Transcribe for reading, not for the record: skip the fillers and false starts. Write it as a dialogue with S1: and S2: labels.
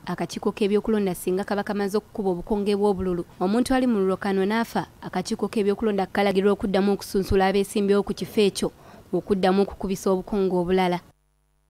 S1: Akakiiko k'ebyokulonda singa kaba kamaze okukuba obukonge bw'obululu, omuntu ali mu lulokano n'afa, akakiiko k'ebyokulonda kalagirwa okuddamu okusunsula abeesimbyewo ku kifo ekyo okuddamu okukubisa obukonge obulala.